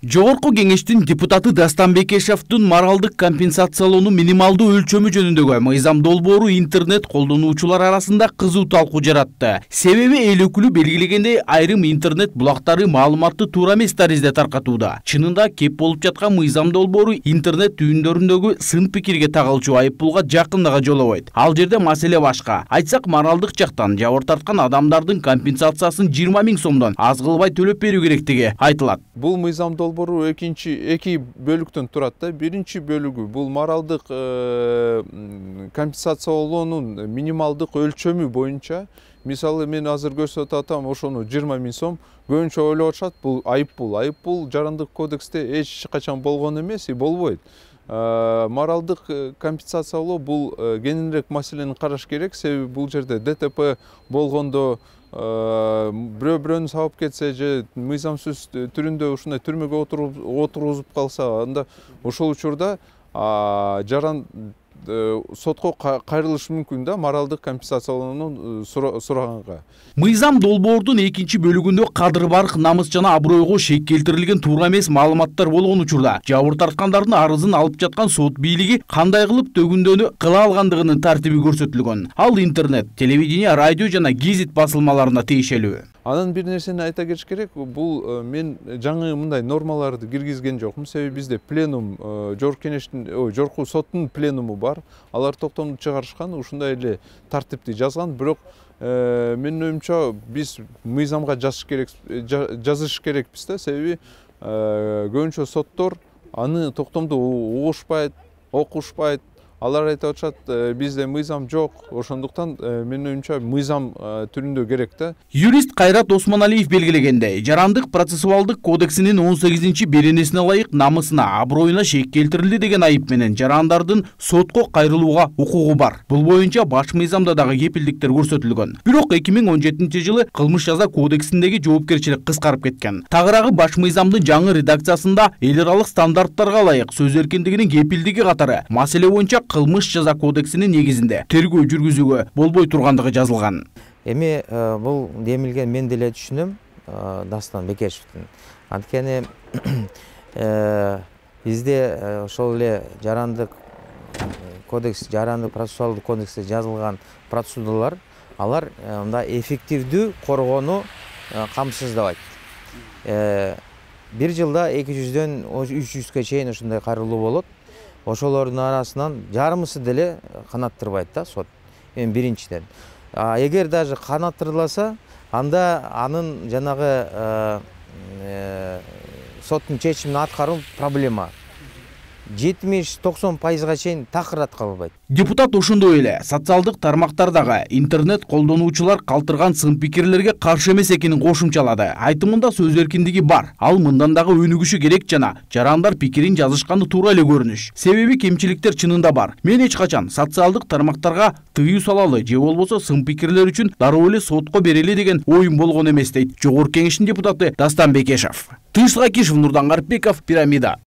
Жогорку кеңештин депутаты Дастан Бекешевдин моралдык компенсациялоону минималдуу өлчөмү жөнүндөгү мыйзам долбоору интернет колдонуучулар арасында кызуу талкуу жаратты. Себеби эл өкүлү белгилегендей айрым интернет булактары маалыматты туура эмес таризде таркатууда. Чынында кеп болуп жаткан мыйзам долбоору интернет түйүндөрүндөгү сын пикирге тагылчу айыппулга жакындыга жолобойт. Ал жерде маселе башка. Айтсак, моралдык жактан жабыр тарткан адамдардын компенсациясын 20 000 сомдон аз кылбай төлөп берүү керектиги айтылат. Бул мыйзам долбоору эки бөлүктөн турат да. Биринчи бөлүгү бул моралдык компенсациялоонун минималдык өлчөмү боюнча. Мисалы, мен азыр көрсөтүп атам, ошону 20 000 сом. Көбүнчө ойлоп атышат, бул айыппул. Айыппул жарандык кодексте эч качан болгон эмес, болбойт. Моралдык компенсациялоо бул кеңирээк маселени караш керек. Себеби бул жерде ДТП болгондо бирөө-бирөөнү сабап кетсе же мыйзамсыз түрүндө ушундай түрмөгө отургузуп калса, анда ошол учурда жаран сотко кайрылышы мүмкүн да, моралдык компенсациялоону сураганга. Мыйзам долбоордун экинчи бөлүгүндө кадыр барк, намыс жана абройго шек келтирилген туура эмес маалыматтар болгон учурда жабыр тарткандардын арызын алып жаткан сот бийлиги кандай кылып төгүндөнү кыла алгандыгынын тартиби көрсөтүлгөн. Ал интернет, телевидение, радио жана гезит басылмаларына тиешелүү. Анан бир нерсени айта кетиш керек, бул мен жаңы мындай нормаларды киргизген жокмун. Себеби бизде пленум, жогорку соттун пленуму бар. Алар токтомду чыгарышкан, ушундай эле тартипти жазган. Бирок менин оюмча биз мыйзамга жазыш керекпиз да. Себеби көбүнчө соттор аны токтомду угушпайт, окушпайт. Алар айтып атышат, бизде мыйзам жок, ошондуктан менин оюмча мыйзам түрүндө керек да. Юрист Кайрат Осмоналиев белгилегендей, жарандык процессуалдык кодексинин 18-беренесине ылайык намысына, аброюна шек келтирилди деген айып менен жарандардын сотко кайрылууга укугу бар. Бул боюнча баш мыйзамда дагы кепилдиктер көрсөтүлгөн. Бирок 2017-жылы кылмыш жаза кодексиндеги жоопкерчилик кыскарып кеткен. Тагыраагы баш мыйзамдын жаңы редакциясында эл аралык стандарттарга ылайык сөз эркиндигинин кепилдиги катары маселе боюнча кылмыш жаза кодексинин негизинде тергөө жүргүзүүгө болбой тургандыгы жазылган. Эми бул демилген мен деле түшүнөм Дастан Бекешевдин. Анткени бизде ошол эле жарандык кодекс, жарандык процессуалдык кодексте жазылган процедуралар, алар мында эффективдүү коргоону камсыздабайт. Бир жылда 200-дөн 300-га чейин ушундай кайрылуу болот. Ошолордун арасынан жарымысы деле канаттырбайт да сот. Биринчиден. Эгер даже канаттырылса, анда анын жанагы соттун чечимин аткаруу проблема. 70-90% чейин такырат калбайт. Депутат ошондой эле социалдык тармактардагы интернет колдонуучулар калтырган сын пикирлерге каршы эмес экенин кошумчалады. Айтымында сөз эркиндиги бар. Ал мындан дагы өнүгүшү керек жана жарандар пикирин жазышканы туура эле көрүнүш. Себеби кемчиликтер чынында бар. Мен эч качан социалдык тармактарга тыюу салалы же болбосо сын пикирлер үчүн дароо эле сотко берели деген оюм болгон эмес дейт Жогорку кеңештин депутаты Дастан Бекешев. Тынчтык Акишев, Нурдан Гарипбеков, Пирамида.